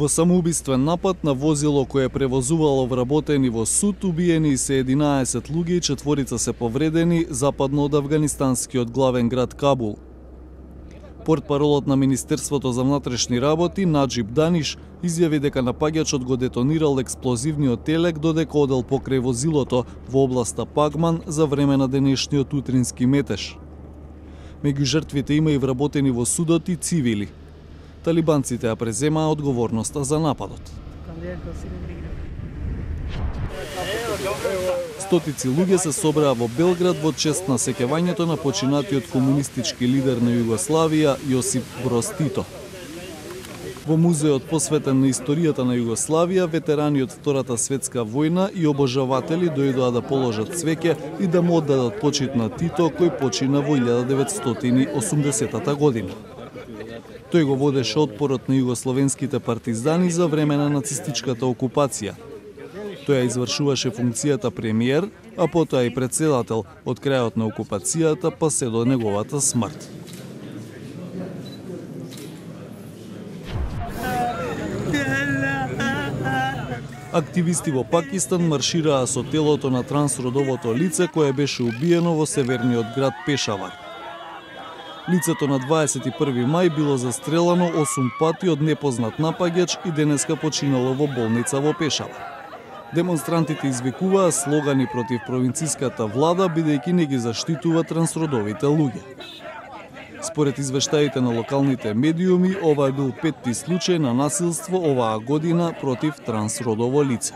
Во самоубиствен напад на возило кое превозувало вработени во суд, убиени се 11 луѓе и 4 се повредени западно од афганистанскиот главен град Кабул. Портпаролот на Министерството за внатрешни работи Наджиб Даниш изјави дека напаѓачот го детонирал експлозивниот телек додека одел покрај возилото во областа Пагман за време на денешниот утрински метеж. Меѓу жртвите има и вработени во судот и цивили. Талибанците ја преземаа одговорноста за нападот. Стотици луѓе се собраа во Белград во чест на сеќавањето на починатиот комунистички лидер на Југославија Јосип Броз Тито. Во музеот посветен на историјата на Југославија, ветерани од Втората светска војна и обожаватели дојдоа да положат цвеќе и да му оддадат почит на Тито, кој почина во 1980 година. Тој го водеше отпорот на југословенските партизани за време на нацистичката окупација. Тој ја извршуваше функцијата премиер, а потоа и председател од крајот на окупацијата па се до неговата смрт. Активисти во Пакистан маршираа со телото на трансродовото лице кое беше убиено во северниот град Пешавар. Лицето на 21 мај било застрелано 8 пати од непознат напаѓач и денеска починало во болница во Пешавар. Демонстрантите извикуваа слогани против провинцијската влада бидејќи не ги заштитува трансродовите луѓе. Според извештаите на локалните медиуми, ова е бил 5-ти случај на насилство оваа година против трансродово лице.